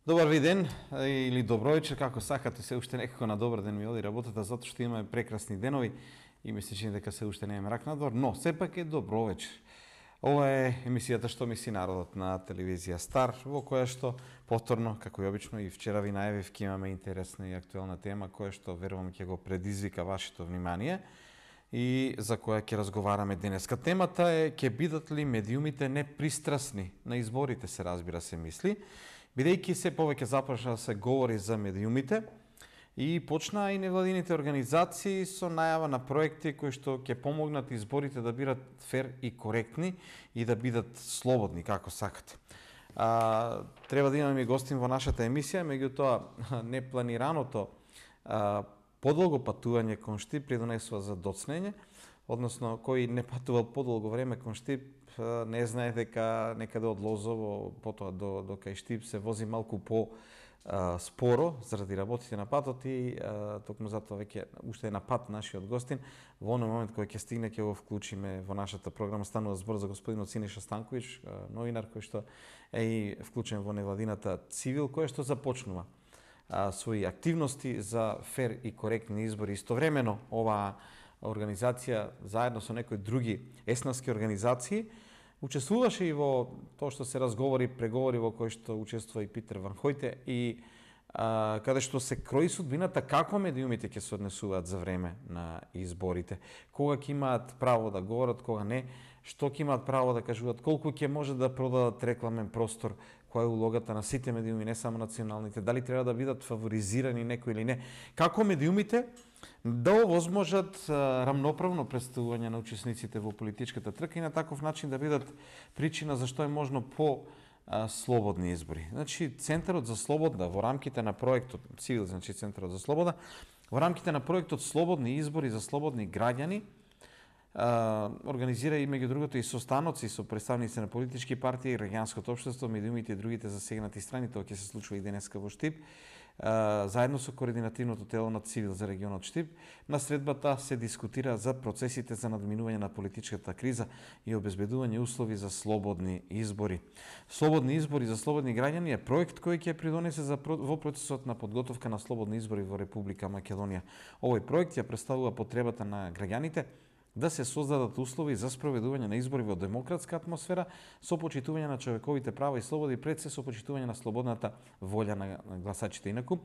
Добар ви ден или добро вечер, како сакате, се уште некако на добар ден ми оди работата, затоа што имаме прекрасни денови и ми се чини дека се уште не е мрак надвор, но сепак е добро вечер. Ова е емисијата Што мисли народот на телевизија Стар, во која што повторно, како и обично и вчера ви најавив, ќе имаме интересна и актуелна тема која што верувам ќе го предизвика вашето внимание и за која ќе разговараме денеска. Темата е: ќе бидат ли медиумите непристрасни на изборите, се разбира се мисли, бидејќи се повеќе започна да се говори за медиумите и почнаа и невладините организации со најава на проекти кои што ќе помогнат изборите да бидат фер и коректни и да бидат слободни како сакате. Треба да имаме гостин во нашата емисија, меѓутоа непланираното подолго патување кон Штип придонесува за доцнење, односно кој не патувал подолго време кон Штип не знае дека некаде од Лозово потоа до кај Штип се вози малку по споро заради работите на патот и токму затоа веќе уште е на пат нашиот гостин. Во оној момент кој ќе стигне ќе го вклучиме во нашата програма. Станува збор за господинот Синиша Станковиќ, новинар кој што е и вклучен во невладината Цивил, која што започнува своји активности за фер и коректни избори. Истовремено оваа организација заедно со некои други еснавски организации учествуваше и во тоа што се разговори, преговори во кои што учествува и Питер Ван Хојте и каде што се крои судбината како медиумите ќе се однесуваат за време на изборите, кога ќе имаат право да говорат, кога не, што ќе имаат право да кажуваат, колку ќе може да продадат рекламен простор, која е улогата на сите медиуми, не само националните, дали треба да бидат фаворизирани некои или не, како медиумите да овозможат рамноправно представување на учесниците во политичката трка и на таков начин да бидат причина зашто е можно по слободни избори. Значи, Центарот за слобода во рамките на проектот Цивил, значи Центарот за слобода, во рамките на проектот Слободни избори за слободни граѓани, организира и меѓу другото и состаноци со представници на политички партии, граѓанското општество, медиумите и другите засегнати страни. Тоа ќе се случува и денеска во Штип, заедно со координативното тело на Цивил за регионот Штип. На средбата се дискутира за процесите за надминување на политичката криза и обезбедување услови за слободни избори. Слободни избори за слободни граѓани е проект кој ќе придонесе во процесот на подготовка на слободни избори во Република Македонија. Овој проект ја представува потребата на граѓаните да се создадат услови за спроведување на избори во демократска атмосфера со почитување на човековите права и слободи, пред се со почитување на слободната волја на гласачите. Инаку,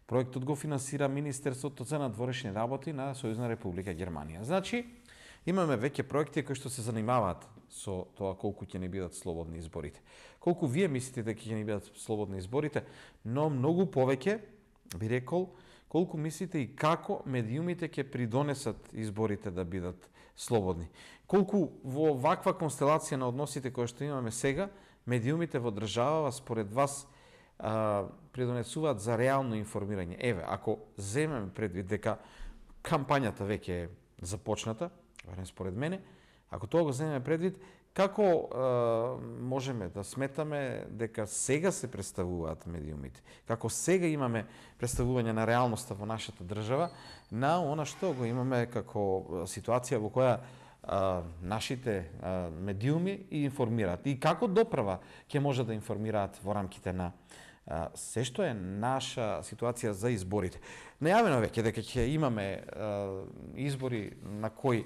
проектот го финансира Министерството за надворешни работи на Сојузна Република Германија. Значи, имаме веќе проекти кои што се занимаваат со тоа колку ќе не бидат слободни изборите. Колку вие мислите дека ќе не бидат слободни изборите, но многу повеќе би рекол колку мислите и како медиумите ќе придонесат изборите да бидат слободни. Колку во ваква констелација на односите кои што имаме сега, медиумите во државава според вас придонесуваат за реално информирање. Еве, ако земеме предвид дека кампањата веќе е започната, барем според мене, ако тоа го земеме предвид, како можеме да сметаме дека сега се представуваат медиумите? Како сега имаме представување на реалноста во нашата држава, на она што го имаме како ситуација во која нашите медиуми и информираат? И како доправа ќе може да информираат во рамките на се што е наша ситуација за изборите? Најавено веќе дека ќе имаме избори на кои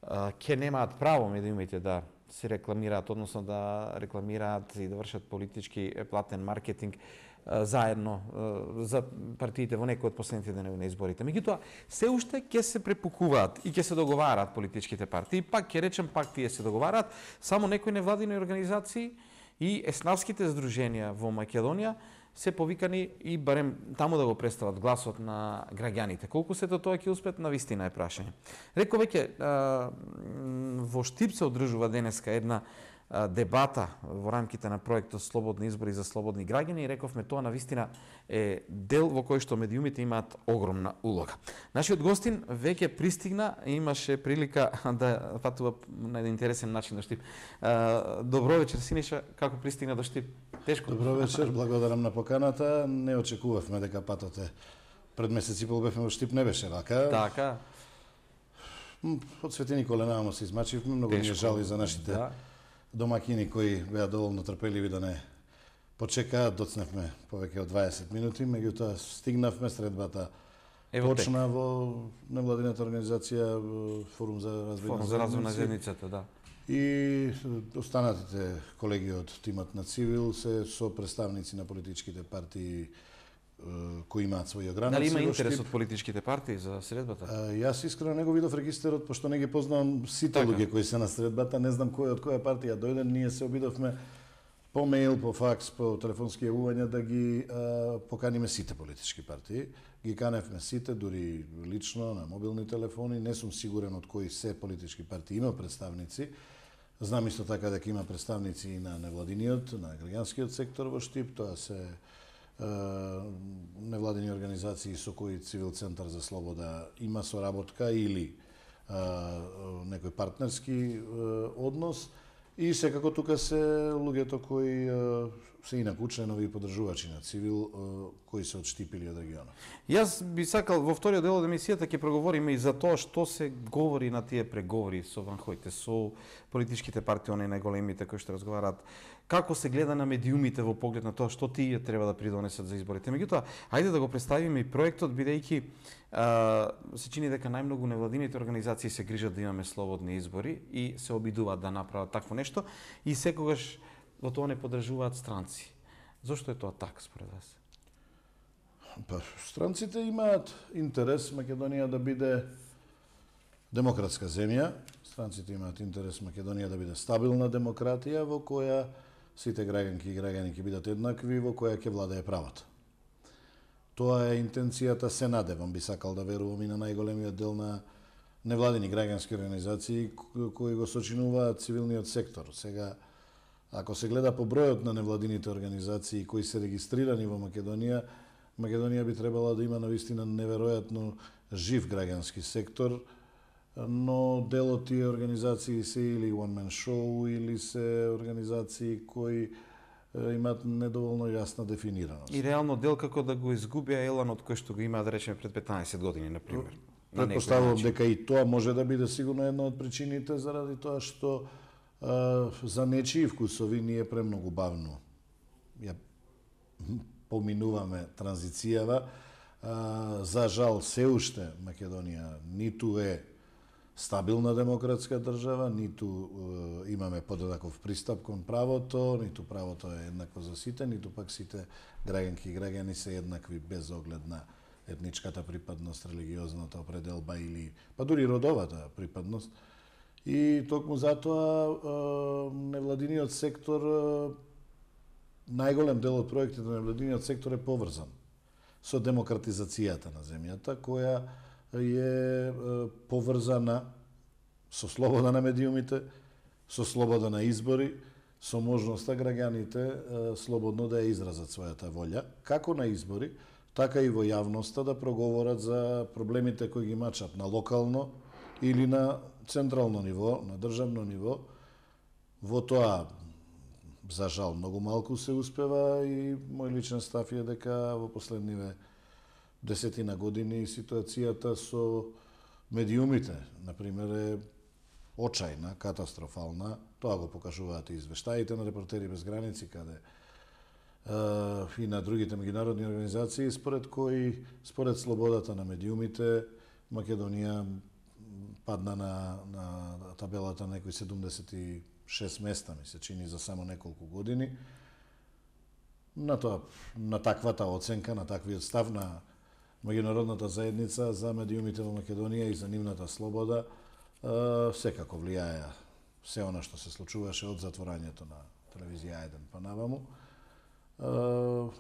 ќе немаат право медиумите да се рекламираат, односно да рекламираат и да вршат политички платен маркетинг заедно за партиите во некои од последните денови на изборите. Меѓутоа, се уште ќе се препукуваат и ќе се договараат политичките партии. Пак ќе речем, пак тие се договараат, само некои невладини организации и еснавските здруженија во Македонија се повикани и барем таму да го представат гласот на граѓаните. Колку се тоа ќе успеат, навистина е прашање. Реко веќе, во Штип се одржува денеска една дебата во рамките на проектот Слободни избори за слободни граѓани и рековме тоа навистина е дел во кој што медиумите имаат огромна улога. Нашиот гостин веќе пристигна и имаше прилика да патува на еден интересен начин до Штип. Добро вечер, Синиша, како пристигна до Штип? Тешко? Добро вечер, благодарам на поканата. Не очекувавме дека патот е пред месец и пол бевме во Штип, не беше вака. Така. Од Свети Николе намо се измачивме, многу ми е жал и за нашите домакини кои беа доволно трпеливи да не почекаа, доцневме повеќе од 20 минути, меѓутоа стигнавме, средбата почна во невладината организација Форум за развој на заедницата, да. И останатите колеги од тимот на Цивил се со представници на политичките партии кои имаат своји ограници. Дали има интерес од политичките партии за средбата? Јас искрено не го видов регистарот, пошто не ги познавам сите луѓе кои се на средбата, не знам кој од која партија дојде, ние се обидовме по мејл, по факс, по телефонски јавувања да ги поканиме сите политички партии. Ги каневме сите, дури лично, на мобилни телефони. Не сум сигурен од кои се политички партии има представници. Знам исто така дека има представници и на невладиниот, на граѓанскиот сектор во Штип. Тоа се невладини организации со кои Цивил Центар за слобода има соработка или некој партнерски однос. И секако тука се луѓето кои се инаку членови и поддржувачи на Цивил, кои се од Штип или од регионот. Јас би сакал во вториот дел од емисијата ќе проговориме и за тоа што се говори на тие преговори со ванхоите, со политичките партии, оние најголемите кои што разговараат, како се гледа на медиумите во поглед на тоа што тие треба да придонесат за изборите. Меѓутоа, ајде да го представиме и проектот, бидејќи се чини дека најмногу невладините организации се грижат да имаме слободни избори и се обидуваат да направат такво нешто и секогаш во тоа не поддржуваат странци. Зошто е тоа така според вас? Па, странците имаат интерес Македонија да биде демократска земја. Странците имаат интерес Македонија да биде стабилна демократија во која сите граѓанки и граѓани ќе бидат еднакви, во која ќе владее правото. Тоа е интенцијата, се надевам, би сакал да верувам и на најголемиот дел на невладини граѓански организации кои го сочинуваат цивилниот сектор. Сега, ако се гледа по бројот на невладините организации кои се регистрирани во Македонија, Македонија би требала да има навистина неверојатно жив граѓански сектор, но дел од тие организации се или one man show или се организации кои имаат недоволно јасна дефинираност. И реално дел како да го изгубија еланот кој што го има, да речеме, пред 15 години, на пример. Предпоставувам дека и тоа може да биде сигурно една од причините, заради тоа што за нечии вкусови ние премногу бавно ја поминуваме транзицијава. За жал, се уште Македонија ниту е стабилна демократска држава, ниту имаме подеднаков пристап кон правото, ниту правото е еднакво за сите, ниту пак сите граѓанки и граѓани се еднакви без оглед на етничката припадност, религиозната определба или па дури родовата припадност. И токму затоа невладиниот сектор, најголем дел од проектите на невладиниот сектор е поврзан со демократизацијата на земјата, која е поврзана со слобода на медиумите, со слобода на избори, со можноста граѓаните слободно да ја изразат својата волја, како на избори, така и во јавноста да проговорат за проблемите кои ги мачат на локално или на централно ниво, на државно ниво. Во тоа, за жал, многу малку се успева и мој личен став е дека во последниве десетина години ситуацијата со медиумите, например, е очајна, катастрофална. Тоа го покажуваат и извештаите на Репортери без граници, каде и на другите меѓународни организации, според слободата на медиумите, Македонија падна на табелата некои 76 места, ми се чини, за само неколку години. На таквата оценка, на таквиот став на меѓународната заедница за медиумите во Македонија и за нивната слобода секако влијаја се она што се случуваше од затворањето на телевизија 1 па наваму,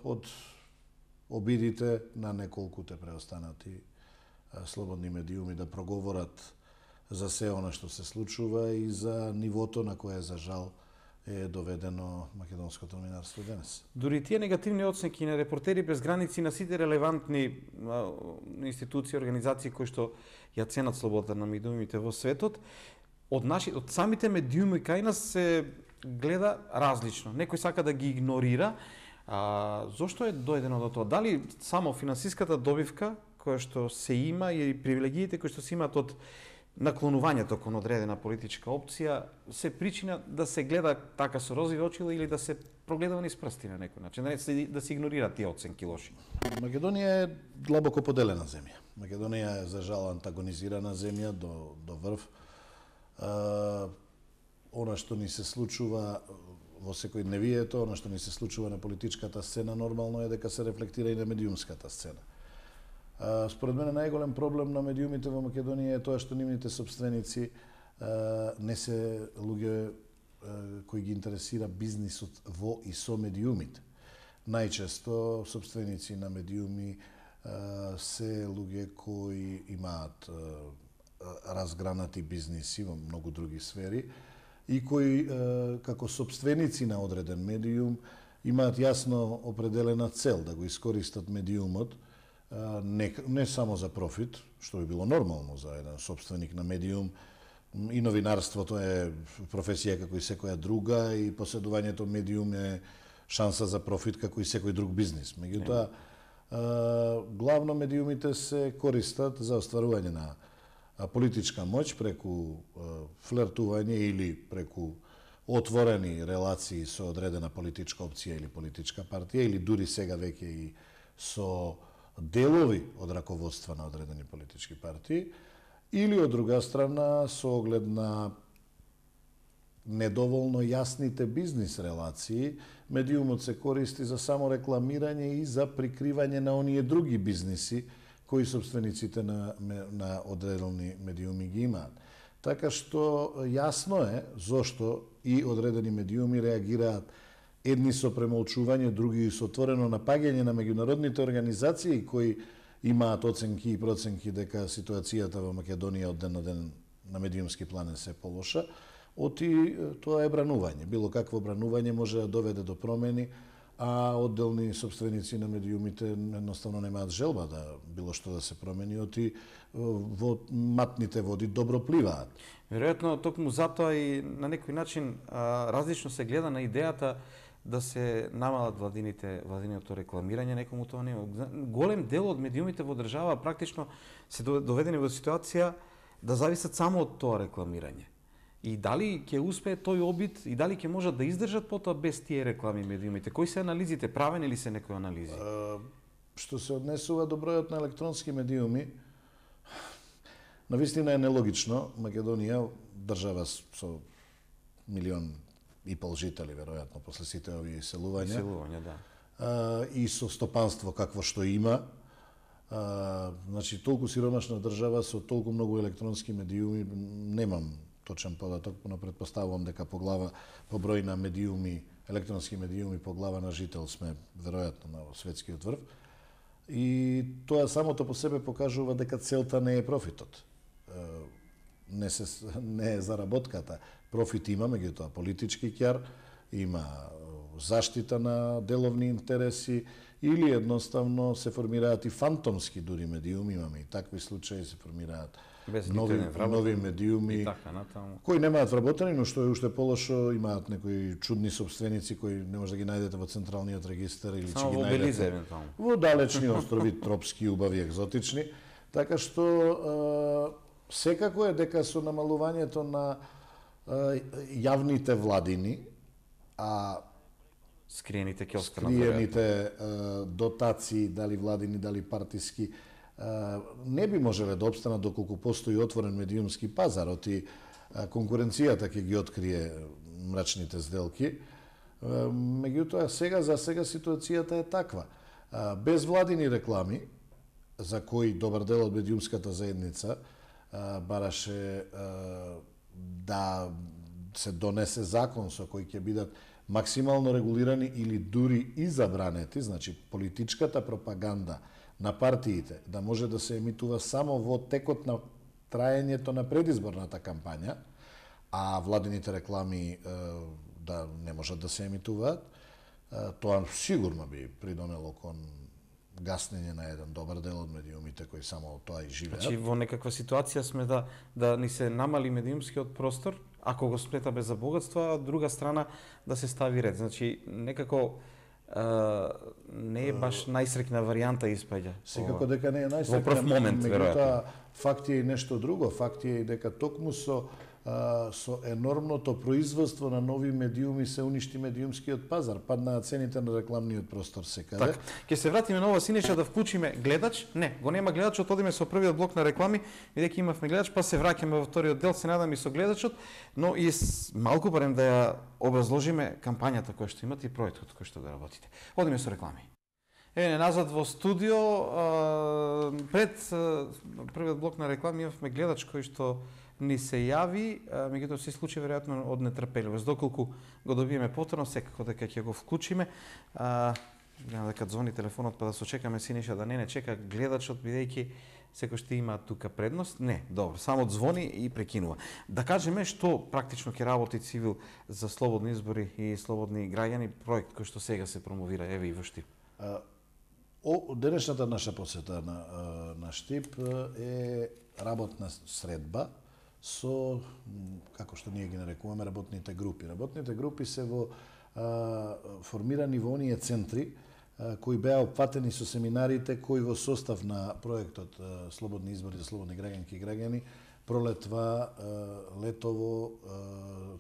од обидите на неколкуте преостанати слободни медиуми да проговорат за се она што се случува и за нивото на кое, за жал, е доведено македонското новинарство денес. Дури тие негативни оценки на Репортери без граници, на сите релевантни институции, организации кои што ја ценат слободата на медиумите во светот, од самите медиуми кај нас се гледа различно. Некој сака да ги игнорира. Зошто е дојдено до тоа? Дали само финансиската добивка која што се има или привилегиите кои што се имаат од наклонувањето кон одредена политичка опција се причина да се гледа така со розови очила или да се прогледува низ прсти на некој начин, да се игнорираат тие оценки лоши? Македонија е длабоко поделена земја. Македонија е за жал антагонизирана земја до врв. Она што ни се случува во секој дневието, она што ни се случува на политичката сцена, нормално е дека се рефлектира и на медиумската сцена. Според мене најголем проблем на медиумите во Македонија е тоа што нивните собственици не се луѓе кои ги интересира бизнисот во и со медиумите. Најчесто собственици на медиуми се луѓе кои имаат разгранати бизниси во многу други сфери и кои како собственици на одреден медиум имаат јасно определена цел да го искористат медиумот не само за профит, што би било нормално за еден собственик на медиум. И новинарството е професија како и секоја друга и поседувањето медиум е шанса за профит како и секој друг бизнис. Меѓутоа, главно медиумите се користат за остварување на политичка моќ преку флертување или преку отворени релации со одредена политичка опција или политичка партија или дури сега веќе и со делови од раководства на одредени политички партии, или од друга страна со оглед на недоволно јасните бизнис релации, медиумот се користи за само рекламирање и за прикривање на оние други бизниси кои собствениците на одредени медиуми ги имаат. Така што јасно е зошто и одредени медиуми реагираат едни со премолчување, други со отворено напаѓање на меѓународните организации кои имаат оценки и проценки дека ситуацијата во Македонија од ден на ден на медиумски план е се полоша, оти тоа е бранување. Било какво бранување може да доведе до промени, а одделни собственици на медиумите едноставно немаат желба да било што да се промени, оти во матните води добро пливаат. Веројатно, токму затоа и на некој начин различно се гледа на идејата да се намалат владиното рекламирање, некому тоа не. Голем дел од медиумите во држава практично се доведени во ситуација да зависат само од тоа рекламирање. И дали ќе успее тој обид и дали ќе можат да издржат потоа без тие реклами медиумите? Кои се анализите? Правени ли се некои анализи? Што се однесува до бројот на електронски медиуми, навистина е нелогично. Македонија, држава со 1,5 милион жители, веројатно, после сите овие иселувања. Иселувања, да. И со стопанство какво што има. Значи, толку сиромашна држава со толку многу електронски медиуми, немам точен податок, но предпоставувам дека по број на медиуми, електронски медиуми по глава на жител сме веројатно на светскиот врв. И тоа самото по себе покажува дека целта не е профитот. Не е заработката. Профит има, меѓутоа политички ќар, има заштита на деловни интереси или едноставно се формираат и фантомски дури медиуми, имаме и такви случаи, се формираат нови медиуми кои немаат вработени, но што е уште полошо, имаат некои чудни собственици кои не може да ги најдете во централниот регистар или ќе ги најдете во далечни острови, тропски, убави, екзотични. Така што секако е дека со намалувањето на јавните владини, скриените дотации, дали владини, дали партиски, не би можеле да обстанат доколку постои отворен медиумски пазар, оти конкуренцијата ќе ги открие мрачните сделки. Меѓутоа, за сега ситуацијата е таква. Без владини реклами, за кои добар дел од медиумската заедница бараше да се донесе закон со кој ќе бидат максимално регулирани или дури и забранети, значи политичката пропаганда на партиите да може да се емитува само во текот на траењето на предизборната кампања, а владините реклами да не можат да се емитуваат, тоа сигурно би придонело кон гаснење на еден добар дел од медиумите кои само тоа и живеат. Значи во некаква ситуација сме да ни се намали медиумскиот простор, ако го сметаме за богатство, а од друга страна да се стави ред. Значи некако не е баш најсрекна варијанта испаѓа. Секако дека не е најсрекна. Во прв момент, веројатно. Факт е и нешто друго. Факт е и дека токму со енормното производство на нови медиуми се уништи медиумскиот пазар, паднаа цените на рекламниот простор секаде. Така, ќе се вратиме на ова Синеша да вклучиме гледач. Не, го нема гледачот, одиме со првиот блок на реклами, бидејќи имавме гледач, па се враќаме во вториот дел, се надам и со гледачот, но и малку барем да ја образложиме кампањата која што имате и проектот кој што да работите. Одиме со реклами. Еве назад во студио, пред првиот блок на реклами имавме гледач кој што ни се јави, меѓутоа се случи веројатно од нетрпеливост. Доколку го добиеме повторно, секако дека ќе го вклучиме. Гледам дека звони телефонот, па да сочекаме Синиша да не чека гледачот, бидејќи секој што има тука предност. Не, добро, само звони и прекинува. Да кажеме што практично ќе работи Цивил за слободни избори и слободни граѓани, проект кој што сега се промовира, еве и во Штип. Денешната наша посета на Штип е работна средба со, како што ние ги нарекуваме, работните групи. Работните групи се во формирани во оние центри кои беа опфатени со семинарите кои во состав на проектот Слободни избори за слободни граѓанки и граѓани пролетва, летово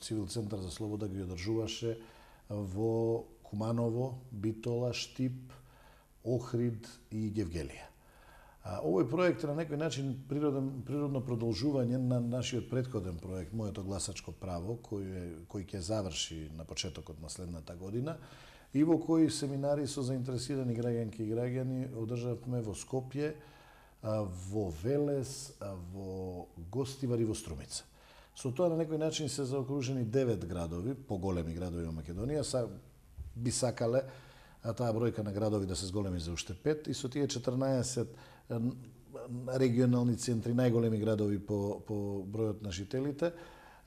Цивил центар за слобода ги одржуваше во Куманово, Битола, Штип, Охрид и Гевгелија. Овој проект е на некој начин природно продолжување на нашиот претходен проект, Моето гласачко право, кој ќе заврши на почетокот на следната година и во кој семинари со заинтересирани граѓанки и граѓани одржавме во Скопје, во Велес, во Гостивар и во Струмица. Со тоа на некој начин се заокружени 9 градови, поголеми градови во Македонија, би сакале таа бројка на градови да се зголеми за уште 5 и со тие 14 регионални центри, најголеми градови по бројот на жителите,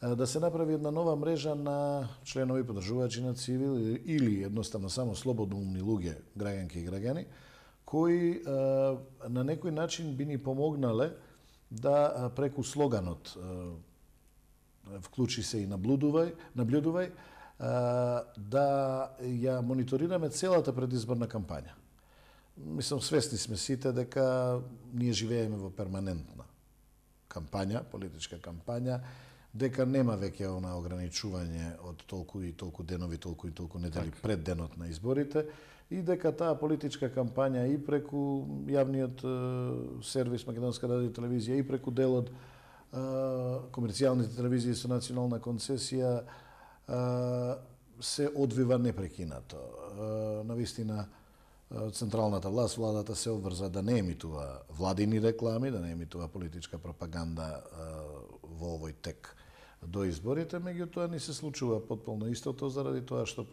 да се направи една нова мрежа на членови поддржувачи на Цивил или едноставно само слободоумни луѓе, граѓанки и граѓани, кои на некој начин би ни помогнале да преку слоганот вклучи се и наблюдувај, да ја мониторираме целата предизборна кампања. Мислам, свесни сме сите дека ние живееме во перманентна кампања, политичка кампања, дека нема веќе она ограничување од толку и толку денови, толку и толку недели пред денот на изборите и дека таа политичка кампања и преку јавниот сервис Македонска радио и телевизија и преку делот комерцијалните телевизии со национална концесија се одвива непрекинато. Навистина, централната власт, владата се обврза да не емитува владини реклами, да не емитува политичка пропаганда во овој тек до изборите, меѓутоа ни се случува потполно истото заради тоа што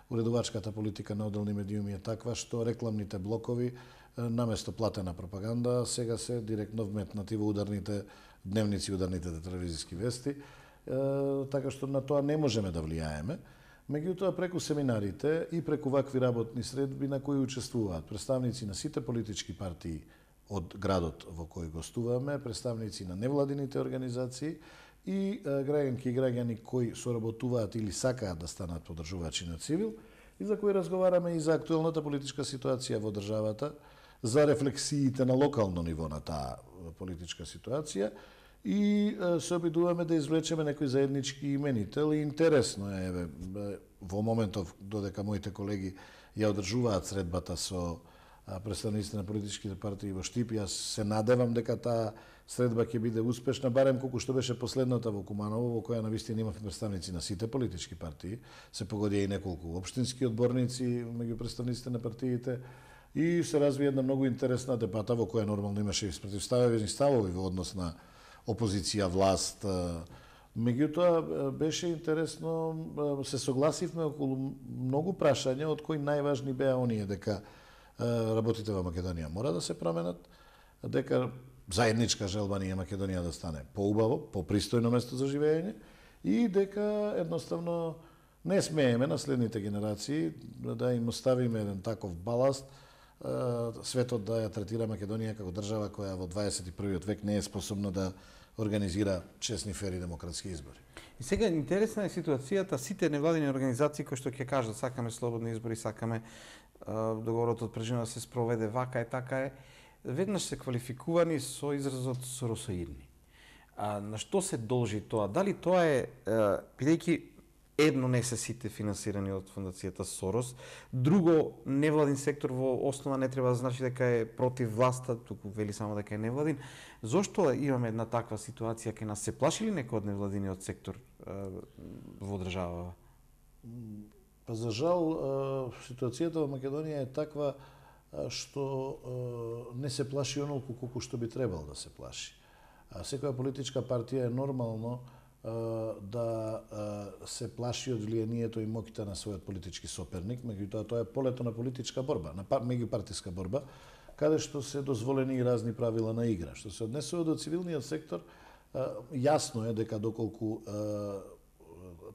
уредувачката политика на одделни медиуми е таква што рекламните блокови наместо платена пропаганда сега се директно вметнати во ударните дневници, ударните телевизиски вести, така што на тоа не можеме да влијаеме. Меѓутоа, преку семинарите и преку вакви работни средби на кои учествуваат представници на сите политички партии од градот во кој гостуваме, представници на невладините организации и граѓанки и граѓани кои соработуваат или сакаат да станат поддржувачи на Цивил и за кои разговараме и за актуелната политичка ситуација во државата, за рефлексиите на локално ниво на таа политичка ситуација и се обидуваме да извлечеме некој заеднички именител и интересно е во моментов додека моите колеги ја одржуваат средбата со представниците на политичките партии во Штип, јас се надевам дека таа средба ќе биде успешна, барем колку што беше последната во Куманово, во која навистина имавме представници на сите политички партии, се погодија и неколку општински одборници меѓу представниците на партиите и се разви една многу интересна дебата во која нормално имаше и спротивставени ставови во однос на опозиција, власт. Меѓутоа, беше интересно, се согласивме околу многу прашања, од кои најважни беа оние дека работите во Македонија мора да се променат, дека заедничка желба ни е Македонија да стане поубаво, попристојно место за живење и дека едноставно не смееме на следните генерации да им оставиме еден таков баласт, светот да ја третира Македонија како држава која во 21. век не е способна да организира честни, фери демократски избори. И сега интересна е ситуацијата, сите невладини организации кои што ќе кажат сакаме слободни избори, сакаме договорот од преживено да се спроведе вака е, така е, веднаш се квалификувани со изразот соросоидни. На што се должи тоа? Дали тоа е, бидејќи едно не се сите финансирани од фондацијата Сорос, друго невладин сектор во основа не треба да значи дека е против власта, туку вели само дека е невладин. Зошто имаме една таква ситуација, ке нас се плаши ли некој од невладиниот сектор во државава? Па за жал ситуацијата во Македонија е таква што не се плаши онолку колку што би требал да се плаши. Секоја политичка партија е нормално да се плаши од влијанието и моќта на својот политички соперник, меѓутоа тоа е полето на политичка борба, на меѓупартиска борба, каде што се дозволени и разни правила на игра. Што се однесува до цивилниот сектор, јасно е дека доколку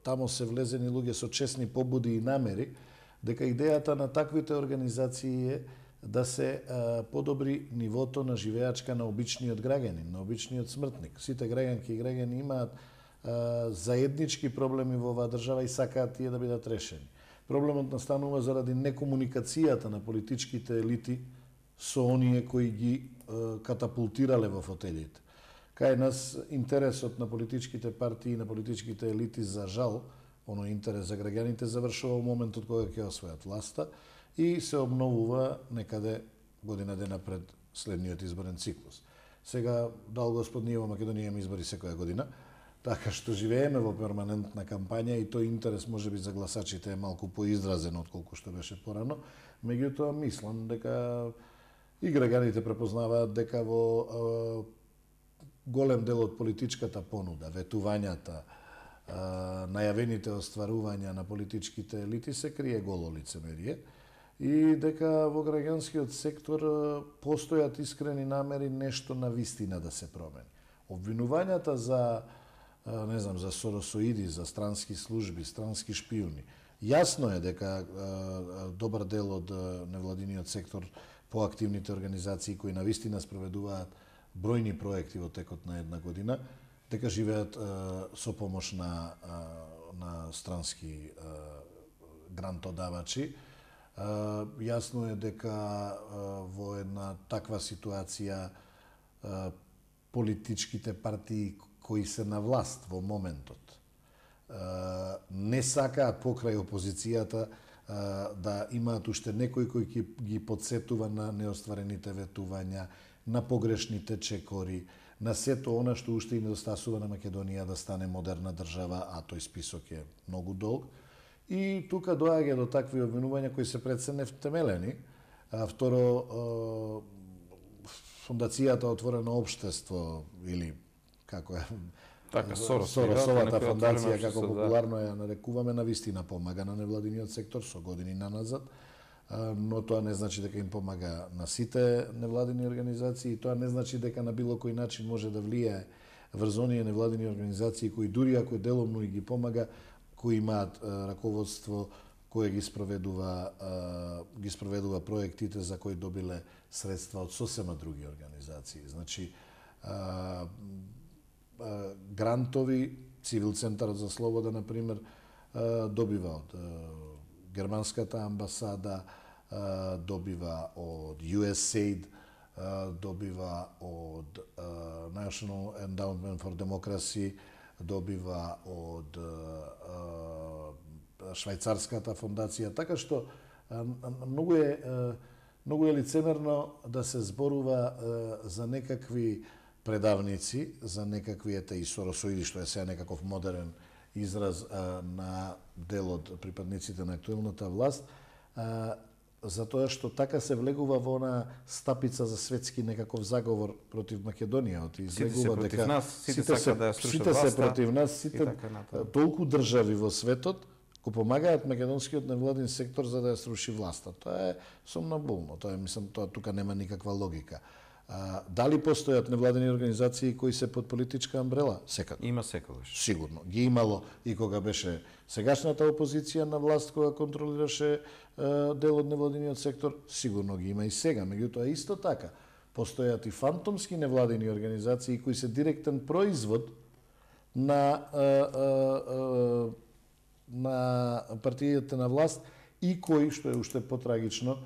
тамо се влезени луѓе со честни побуди и намери, дека идејата на таквите организации е да се подобри нивото на живеачка на обичниот граѓанин, на обичниот смртник. Сите граѓанки и граѓани имаат заеднички проблеми во оваа држава и сакаат тие да бидат решени. Проблемот настанува заради некомуникацијата на политичките елити со оние кои ги катапултирале во фотелите. Кај нас интересот на политичките партии и на политичките елити за жал, оној интерес за граѓаните завршува во моментот кога ќе освојат власта и се обновува некаде година дена пред следниот изборен циклус. Сега, дал Господ, ние во Македонија имаме избори секоја година, така што живееме во перманентна кампања и тој интерес можеби за гласачите е малку поизразен отколку што беше порано, меѓутоа мислам дека и граѓаните препознаваат дека во голем дел од политичката понуда, ветувањата, најавените остварувања на политичките елити се крие голо лицемерие и дека во граѓанскиот сектор постојат искрени намери нешто на вистина да се промени. Обвинувањата за не знам, за соросоиди, за странски служби, странски шпиуни. Јасно е дека добар дел од невладиниот сектор, поактивните организации кои навистина спроведуваат бројни проекти во текот на една година, дека живеат со помош на странски грантодавачи. Јасно е дека во една таква ситуација политичките партии кои се на власт во моментот не сакаат покрај опозицијата да имаат уште некој кој ги подсетува на неостварените ветувања, на погрешните чекори, на сето она што уште и недостасува на Македонија да стане модерна држава, а тој список е многу долг. И тука доаѓа до такви обвинувања кои се пред се невтемелени. Второ, фондацијата Отворено општество или како е така Соросовата фондација, како популарно ја нарекуваме, навистина помага на невладиниот сектор со години наназад, но тоа не значи дека им помага на сите невладини организации, тоа не значи дека на било кој начин може да влијае врз оние невладини организации кои дури ако деломно и ги помага, кои имаат раководство кое ги спроведува проектите за кои добиле средства од сосема други организации. Значи, грантови, Цивил центарот за слобода, например, добива од германската амбасада, добива од USAID, добива од National Endowment for Democracy, добива од швајцарската фондација, така што многу е лицемерно да се зборува за некакви предавници, за некакви и соросоиди, што е сега некаков модерен израз на дел од припадниците на актуелната власт, затоа што така се влегува во она стапица за светски некаков заговор против Македонија. Сите се против нас, сите сакаат да ја срушат власта. Сите се против нас, сите толку држави во светот го помагаат македонскиот невладин сектор за да ја сруши власта. Тоа е сомнобулно. Тоа е, мислам, тоа тука нема никаква логика. Дали постојат невладени организации кои се под политичка амбрела? Секако. Има секогаш. Сигурно. Ги имало и кога беше сегашната опозиција на власт, кога контролираше дел од невладениот сектор, сигурно ги има и сега. Меѓутоа, исто така, постојат и фантомски невладени организации кои се директен производ на партиите на власт и кои, што е уште потрагично,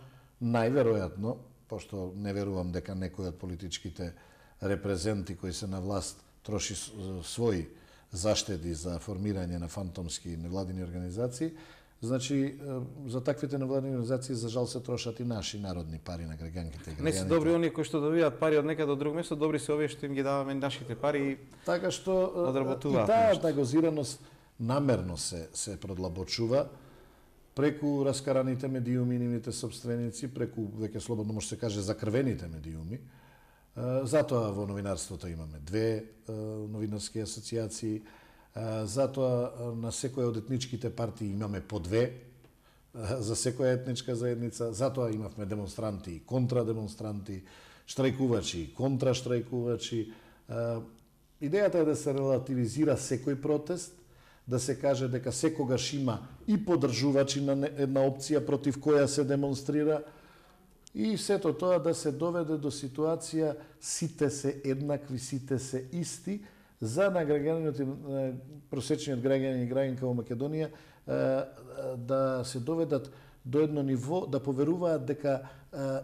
најверојатно, пошто не верувам дека некој од политичките репрезенти кои се на власт троши своји заштеди за формирање на фантомски невладини организации, значи за таквите невладини организации за жал се трошат и наши народни пари на граѓанките и граѓаните. Не се добри оние кои што добиваат пари од некаде од друго место, добри се овие што им ги даваме нашите пари и така што одработуваат. И таа нагозираност намерно се продлабочува преку раскараните медиуми, нивните собственици, преку, веќе слободно може се каже, закрвените медиуми. Затоа во новинарството имаме две новинарски асоциации, затоа на секоја од етничките партии имаме по две за секоја етничка заедница, затоа имавме демонстранти и контрадемонстранти, штрајкувачи и контраштрајкувачи. Идејата е да се релативизира секој протест, да се каже дека секогаш има и поддржувачи на една опција против која се демонстрира, и сето тоа да се доведе до ситуација сите се еднакви, сите се исти, за на граѓанинот и просечниот граѓанин и граѓанка во Македонија да се доведат до едно ниво, да поверуваат дека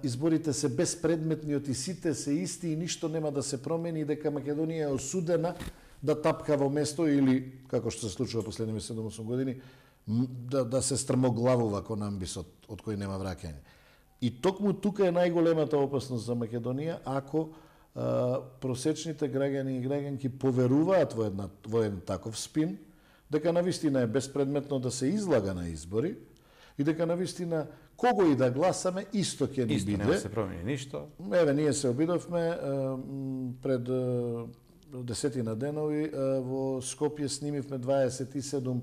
изборите се безпредметни и сите се исти и ништо нема да се промени и дека Македонија е осудена да тапка во место или, како што се случува последниве 7-8 години, да се стрмоглавува кон амбисот од кој нема враќање. И токму тука е најголемата опасност за Македонија, ако просечните граѓани и граѓанки поверуваат во еден таков спин, дека навистина е безпредметно да се излага на избори и дека навистина кого и да гласаме исто ќе ни биде. Исто нема се промени ништо. Еве, ние се обидовме пред десетина денови во Скопје снимивме 27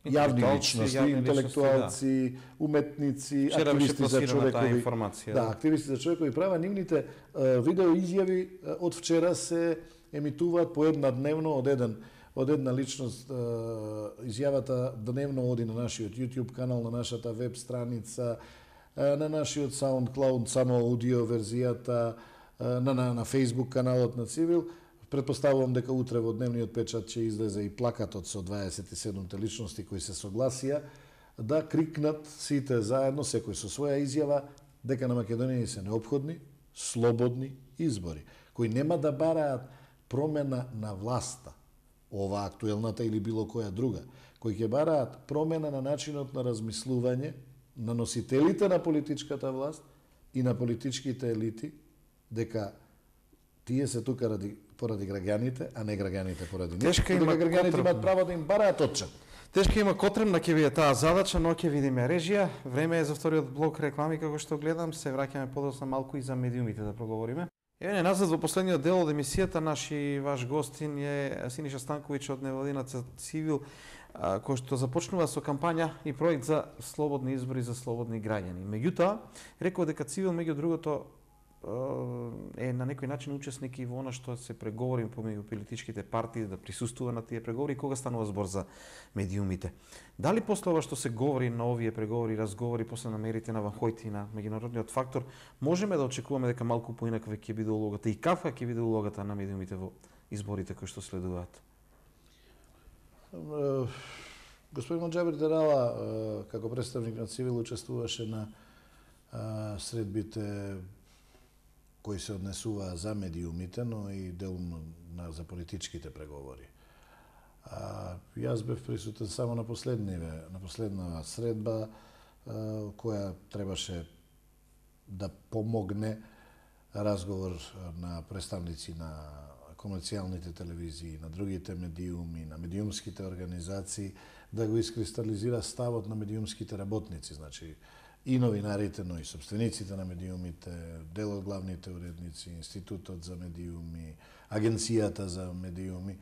јавни личности, интелектуалци, уметници, активисти за човекови активисти за човекови права. Нивните видео изјави од вчера се емитуваат по една дневно од една личност. Изјавата дневно оди на нашиот YouTube канал, на нашата веб страница, на нашиот SoundCloud, само аудио верзијата, на Facebook каналот на Цивил. Предпоставувам дека утре во дневниот печат ќе излезе и плакатот со 27 личности кои се согласија да крикнат сите заедно, секој со своја изјава, дека на Македонија се неопходни, слободни избори, кои нема да бараат промена на власта, ова актуелната или било која друга, кои ќе бараат промена на начинот на размислување на носителите на политичката власт и на политичките елити, дека тие се тука поради граѓаните, а не граѓаните поради нив. Тешка има граѓаните имаат право да им бараат отчет. Тешка има котремна ќе биде таа задача, но ќе видиме режија. Време е за вториот блок реклами, како што гледам, се враќаме подоцна малку и за медиумите да проговориме. Еве назад во последниот дел од емисијата, наш и ваш гостин е Синиша Станковиќ од невладината Цивил, кој што започнува со кампања и проект за слободни избори за слободни граѓани. Меѓутоа, рекол дека Цивил меѓу другото е на некој начин учесник и во она што се преговори помеѓу политичките партии, да присуствува на тие преговори, кога станува збор за медиумите. Дали после ова што се говори на овие преговори, разговори, после намерите на Ван Хојт и на меѓународниот фактор, можеме да очекуваме дека малку поинаква ќе биде улогата и каква ќе биде улогата на медиумите во изборите кои што следуваат? Господин Моџабир Дерала, како представник на Цивил, учествуваше на средбите кои се однесува за медиумите, но и делно за политичките преговори. Јас бев присутен само на последна средба, која требаше да помогне разговор на представници на комерцијалните телевизии, на другите медиуми, на медиумските организации, да го искристализира ставот на медиумските работници, значи и новинарите, но и собствениците на медиумите, дел од главните уредници, Институтот за медиуми, Агенцијата за медиуми,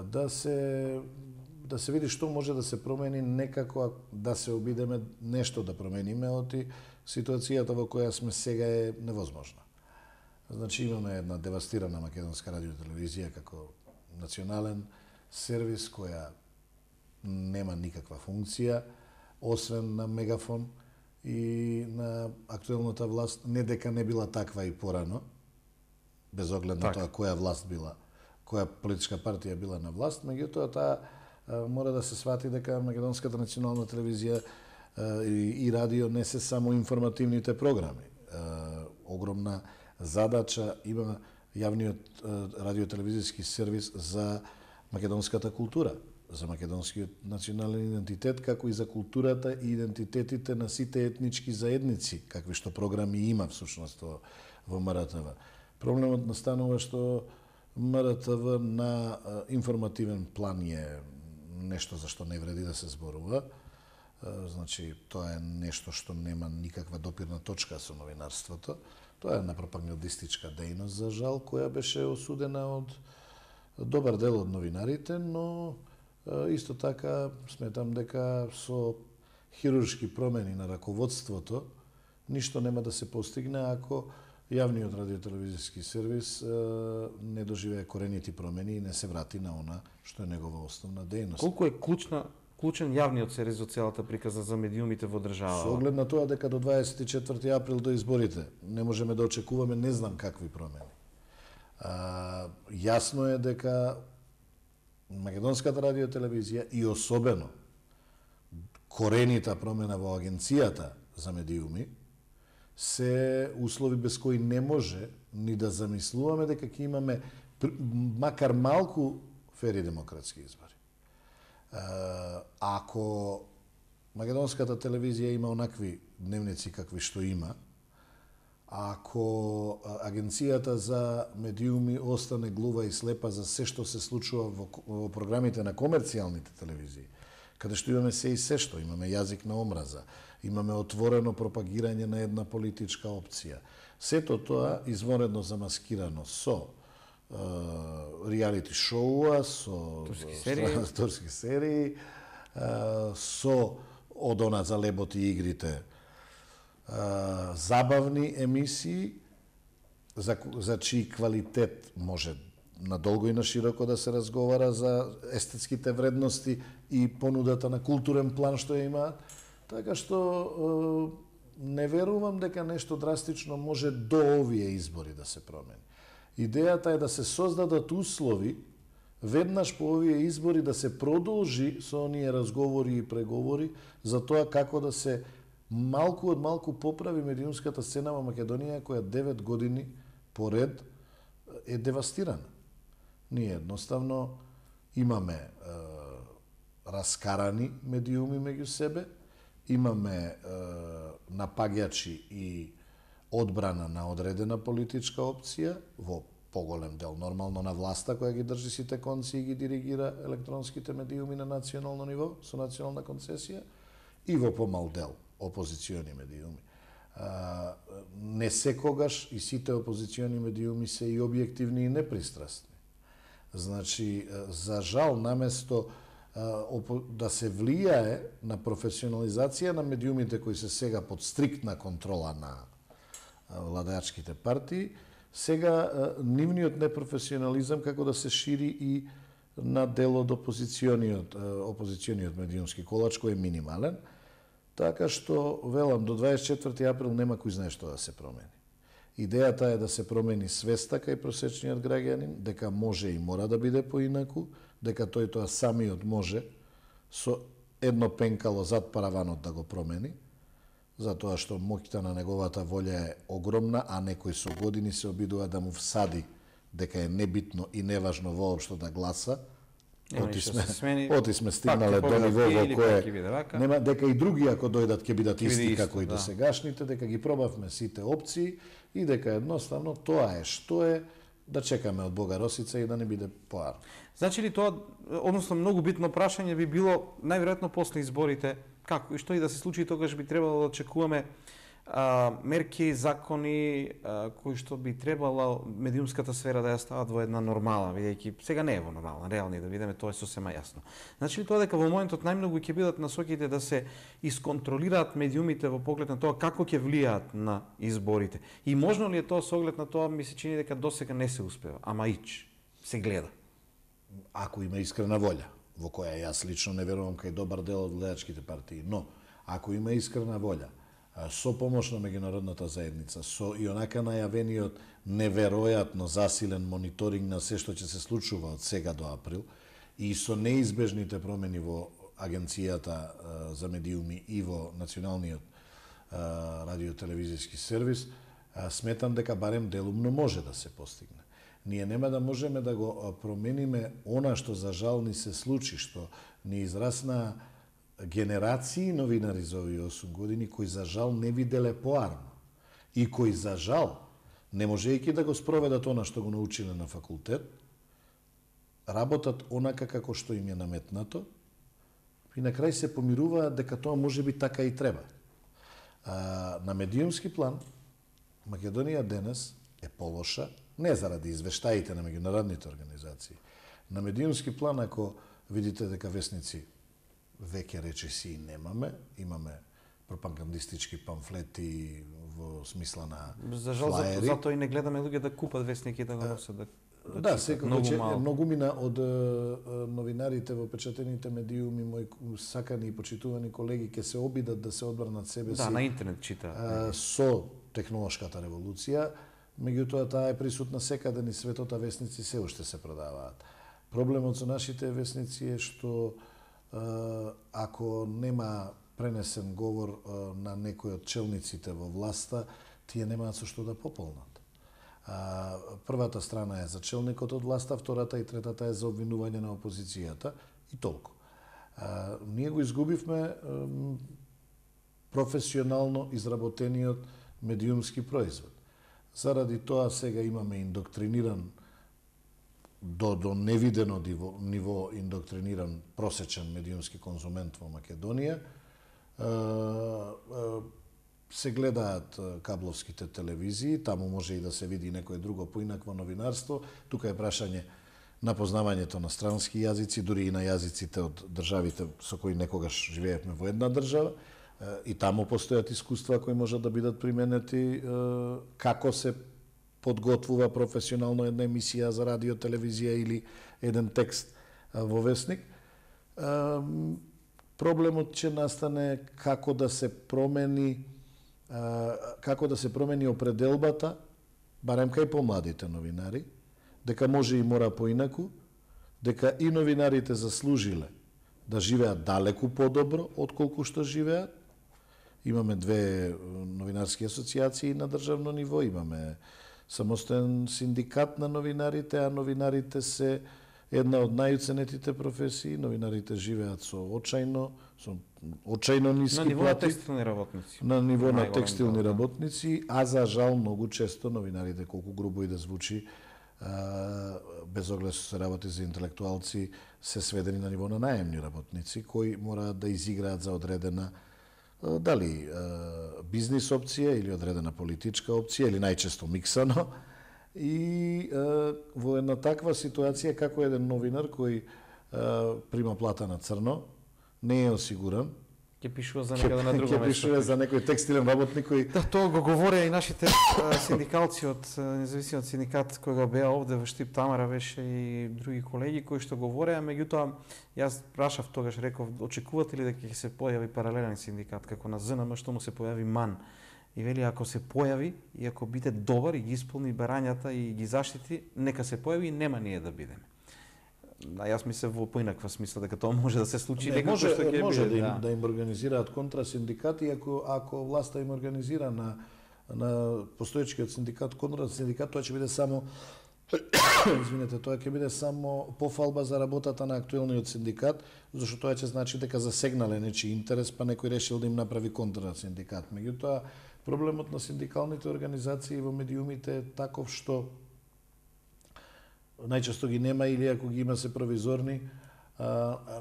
да се види што може да се промени, некако да се обидеме нешто да промениме, оти ситуацијата во која сме сега е невозможна. Значи имаме една девастирана македонска радиотелевизија како национален сервис која нема никаква функција, освен на мегафон, и на актуелната власт, не дека не била таква и порано, без оглед на тоа која власт била која политичка партија била на власт, меѓутоа таа мора да се свати дека Македонската национална телевизија и радио не се само информативните програми. Огромна задача има јавниот радиотелевизиски сервис за македонската култура, за македонскиот национален идентитет, како и за културата и идентитетите на сите етнички заедници, какви што програми има всушност во МРТВ. Проблемот настанува што МРТВ на информативен план е нешто за што не вреди да се зборува. Значи, тоа е нешто што нема никаква допирна точка со новинарството. Тоа е една пропагандистичка дејност, за жал, која беше осудена од добар дел од новинарите, но исто така сметам дека со хируршки промени на раководството ништо нема да се постигне ако јавниот радиотелевизиски сервис не доживее коренити промени и не се врати на она што е негова основна дејност. Колку е клучен јавниот сервис во целата приказна за медиумите во држава? Со оглед на тоа дека до 24 април до изборите не можеме да очекуваме не знам какви промени. Јасно е дека Македонската радиотелевизија и особено коренита промена во агенцијата за медиуми се услови без кои не може ни да замислуваме дека ќе имаме макар малку фери демократски избори. Ако Македонската телевизија има онакви дневници какви што има, ако агенцијата за медиуми остане глува и слепа за се што се случува во програмите на комерцијалните телевизии, каде што имаме се и се што, имаме јазик на омраза, имаме отворено пропагирање на една политичка опција. Сето тоа извонредно замаскирано со реалити шоуа, со турски серии, со од она за лебот и игрите, забавни емисии за чиј квалитет може надолго и на широко да се разговара, за естетските вредности и понудата на културен план што ја имаат, така што не верувам дека нешто драстично може до овие избори да се промени. Идејата е да се создадат услови веднаш по овие избори да се продолжи со оние разговори и преговори за тоа како да се малку од малку поправи медиумската сцена во Македонија, која 9 години поред е девастирана. Ние едноставно имаме раскарани медиуми меѓу себе, имаме напаѓачи и одбрана на одредена политичка опција, во поголем дел нормално на власта која ги држи сите конци и ги диригира електронските медиуми на национално ниво со национална концесија, и во помал дел опозициони медиуми. Не секогаш и сите опозициони медиуми се и објективни и непристрасни. Значи, за жал, наместо да се влијае на професионализација на медиумите кои се сега под стриктна контрола на владеачките партии, сега нивниот непрофесионализам како да се шири и на дел од опозициониот медиумски колач кој е минимален, така што, велам, до 24 април нема кој знае што да се промени. Идејата е да се промени свеста кај просечниот граѓанин, дека може и мора да биде поинаку, дека тој тоа самиот може со едно пенкало зад параванот да го промени, затоа што моќта на неговата волја е огромна, а некој со години се обидува да му всади дека е небитно и неважно воопшто да гласа. Оти сме стигнале до ниво во кое нема дека и други ако дојдат ќе бидат исти како и досегашните, дека ги пробавме сите опции и дека едноставно тоа е што е, да чекаме од Бога Росица и да не биде поар. Значи ли тоа, односно многу битно прашање би било најверојатно после изборите, како и што и да се случи, тогаш би требало да очекуваме мерки, закони кои што би требало медиумската сфера да ја стават во една нормала, бидејќи сега не е во нормална, реални да видиме, тоа е сосема јасно. Значи ли тоа дека во моментот најмногу ќе бидат насоките да се исконтролираат медиумите во поглед на тоа како ќе влијаат на изборите? И можно ли е тоа со оглед на тоа, ми се чини дека досега не се успева, ама се гледа? Ако има искрена волја, во која јас лично не верувам кај добар дел од владеачките партии, но ако има искрена волја, со помош на меѓународната заедница, со и онака најавениот неверојатно засилен мониторинг на се што ќе се случува од сега до април и со неизбежните промени во Агенцијата за медиуми и во Националниот радиотелевизиски сервис, сметам дека барем делумно може да се постигне. Ние нема да можеме да го промениме она што за жал ни се случи, што ни израсна генерации новинари за овие 8 години кои за жал не виделе поарно и кои за жал, не можејќи да го спроведат она што го научиле на факултет, работат онака како што им е наметнато и на крај се помируваат дека тоа може би така и треба. На медиумски план, Македонија денес е полоша, не заради извештаите на меѓународните организации. На медиумски план, ако видите дека весници веќе речиси немаме, имаме пропагандистички памфлети во смисла на за жал, флаери. затоа и не гледаме луѓе да купат вестники да го носат. Да, секако многумина од новинарите во печатените медиуми, мои сакани и почитувани колеги, ќе се обидат да се одбранат себе си. Да, на интернет чита. Со технолошката револуција, меѓутоа таа е присутна секаде низ светот, а весници се уште се продаваат. Проблемот со нашите весници е што ако нема пренесен говор на некој од челниците во власта, тие немаат со што да пополнат. Првата страна е за челникот од власта, втората и третата е за обвинување на опозицијата и толку. Ние го изгубивме професионално изработениот медиумски производ. Заради тоа сега имаме индоктриниран до невидено ниво индоктриниран просечен медиумски конзумент во Македонија. Се гледаат кабловските телевизии, таму може и да се види некое друго поинакво новинарство. Тука е прашање на познавањето на странски јазици, дури и на јазиците од државите со кои некогаш живеевме во една држава. И таму постојат искуства кои можат да бидат применети како се подготвува професионално една емисија за радио, телевизија или еден текст во весник. Проблемот ќе настане како да се промени определбата, барем кај помладите новинари, дека може и мора поинаку, дека и новинарите заслужиле да живеат далеку подобро отколку што живеат. Имаме две новинарски асоциации на државно ниво, имаме самостоен синдикат на новинарите, а новинарите се една од најуценетите професии. Новинарите живеат со очајно ниски плати. На ниво на текстилни работници. На ниво на текстилни работници, а за жал многу често новинарите, колку грубо и да звучи, без оглед што се работи за интелектуалци, се сведени на ниво на наемни работници, кои мораат да изиграат за одредена дали бизнис опција или одредена политичка опција, или најчесто миксано. И во една таква ситуација, како еден новинар кој прима плата на црно, не е осигуран, ќе пишува за некаде на друго место. Ќе пишува за некој текстилен работник кој... Да, тоа го говореа и нашите синдикалци од независимиот синдикат кој го беа овде во Штип, Тамара беше и други колеги кои што говореа, меѓутоа јас прашав тогаш, реков, очекувате ли дека ќе се појави паралелен синдикат како на ЗНМ што му се појави МАН? И вели, ако се појави и ако биде добар и ги исполни барањата и ги заштити, нека се појави и нема ние да бидеме. Јас мислев во поинаква смисла дека тоа може да се случи. Може да им организираат контрасиндикати, ако власта им организира на постоечкиот синдикат контрасиндикат, тоа ќе биде само тоа ќе биде само пофалба за работата на актуелниот синдикат, зашто тоа ќе значи дека засегнале нечи интерес, па некој решил да им направи контрасиндикат. Меѓутоа, проблемот на синдикалните организации во медиумите е таков што најчесто ги нема или ако ги има се провизорни,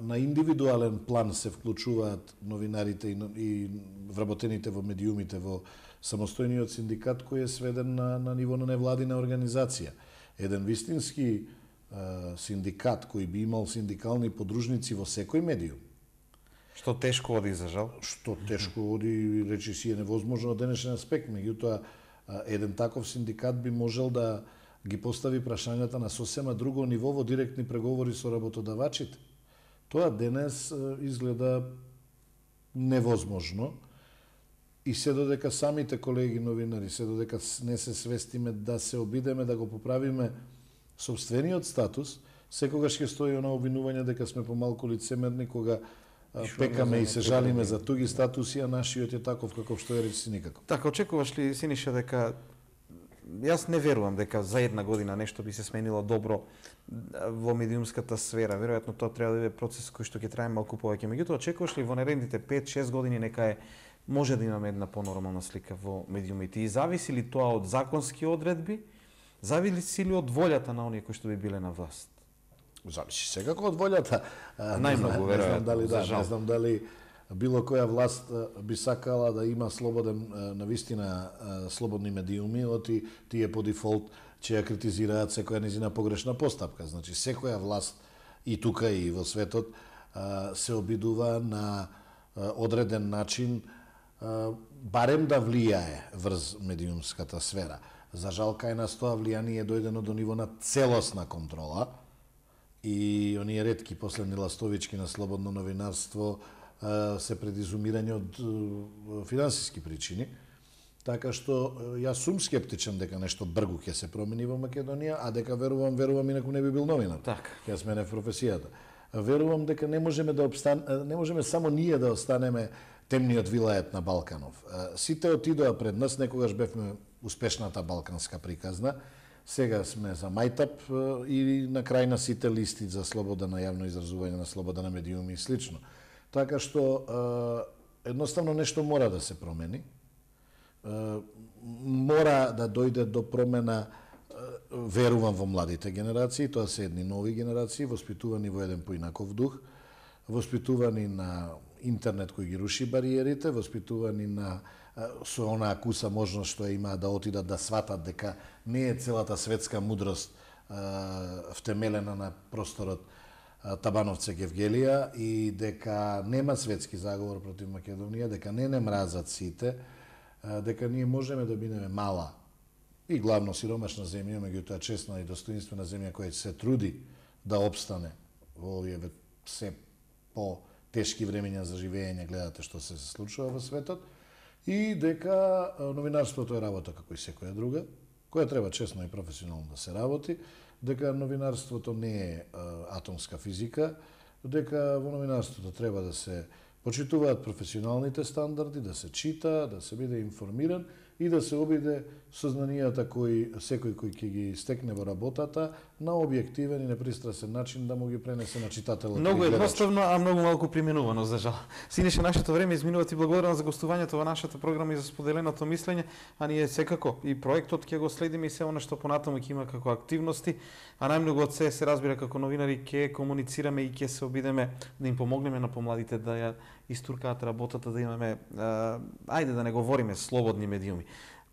на индивидуален план се вклучуваат новинарите и вработените во медиумите во самостојниот синдикат кој е сведен на ниво на невладина организација. Еден вистински синдикат кој би имал синдикални подружници во секој медиум. Што тешко оди, за жал. Што тешко оди, речи си, е невозможно од денешен аспект. Меѓутоа, еден таков синдикат би можел да ги постави прашањата на сосема друго ниво во директни преговори со работодавачите. Тоа денес изгледа невозможно. И се додека самите колеги новинари, се додека не се свестиме да се обидеме да го поправиме собствениот статус, секогаш ќе стои она обвинување дека сме помалку лицемерни кога пекаме и се жалиме за туги статуси, а нашиот е таков каков што е речи никако. Така, очекуваш ли, Синиша, дека јас не верувам дека за една година нешто би се сменило добро во медиумската сфера. Веројатно тоа треба да биде процес кој што ќе трае малку повеќе. Меѓутоа, очекуваш ли во наредните 5-6 години нека може да имаме една понормална слика во медиумите? И зависи ли тоа од законски одредби? Зависи ли од волјата на оние кои што би биле на власт? Зависи секако од волјата. Најмногу, веројатно, не знам дали било која власт би сакала да има слободен, навистина слободни медиуми, оти тие по дефолт ќе ја критизираат секоја незина погрешна постапка. Значи, секоја власт и тука и во светот се обидува на одреден начин барем да влијае врз медиумската сфера. За жал, кај нас тоа влијание е дојдено до ниво на целосна контрола и оние ретки последни ластовички на слободно новинарство се предизумирање од финансиски причини. Така што јас сум скептичен дека нешто бргу ќе се промени во Македонија, а дека верувам инаку не би бил новинар. Така. Ќе смене професијата. Верувам дека не можеме само ние да останеме темниот вилајет на Балканов. Сите отидоа пред нас, некогаш бевме успешната балканска приказна, сега сме за мајтап и на крај на сите листи за слобода на јавно изразување, на слобода на медиуми и слично. Така што едноставно нешто мора да се промени. Мора да дојде до промена, верувам во младите генерации, тоа се едни нови генерации, воспитувани во еден поинаков дух, воспитувани на интернет кој ги руши бариерите, воспитувани на со онаа куса можност што имаат да отидат да сватат дека не е целата светска мудрост втемелена на просторот Табановце Гевгелија и дека нема светски заговор против Македонија, дека не мразат сите, дека ние можеме да бидеме мала и главно сиромашна земја, меѓутоа честна и достоинствена земја која се труди да опстане во овие се по тешки времења за живење, гледате што се случува во светот, и дека новинарството е работа како и секоја друга, која треба честно и професионално да се работи, дека новинарството не е атомска физика, дека во новинарството треба да се почитуваат професионалните стандарди, да се чита, да се биде информиран и да се обиде сознанијата кои секој кој ќе ги стекне во работата на објективен и непристрасен начин да му ги пренесе на читателот. Многу едноставно, а многу малку применувано, за жал. Синише, нашето време изминува, ти благодарам за гостувањето во нашата програма и за споделеното мислење, а ние секако и проектот ќе го следиме и се она што понатаму ќе има како активности, а најмногу од се разбира како новинари ќе комуницираме и ќе се обидеме да им помогнеме на помладите да ја истуркаат работата, да имаме ајде да не говориме слободни медиуми.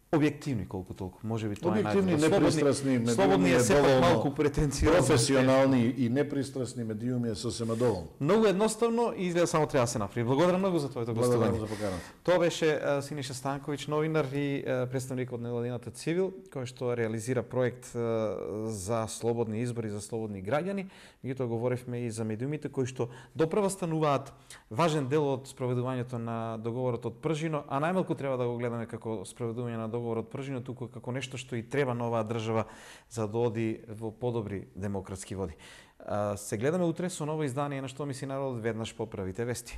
Објективни колку толку, можеби тоа е објективни, непристрасни медиуми, слободни е сепак малку претенциозно. Професионални и непристрасни медиуми е сосема доволно. Многу едноставно и изгледа само треба да се направи. Благодарам многу за твоето гостување. За поканата. Тоа беше Синиша Станковиќ, новинар и представник од невладината Цивил, кој што реализира проект за слободни избори, за слободни граѓани. Меѓутоа говоревме и за медиумите кои што допрва стануваат важен дел од спроведувањето на договорот од Пржино, а најмалку треба да го гледаме како спроведување на договорот Пржино, туку како нешто што и треба на оваа држава за да оди во подобри демократски води. Се гледаме утре со ново издание на Што мисли народот, веднаш поправите вести.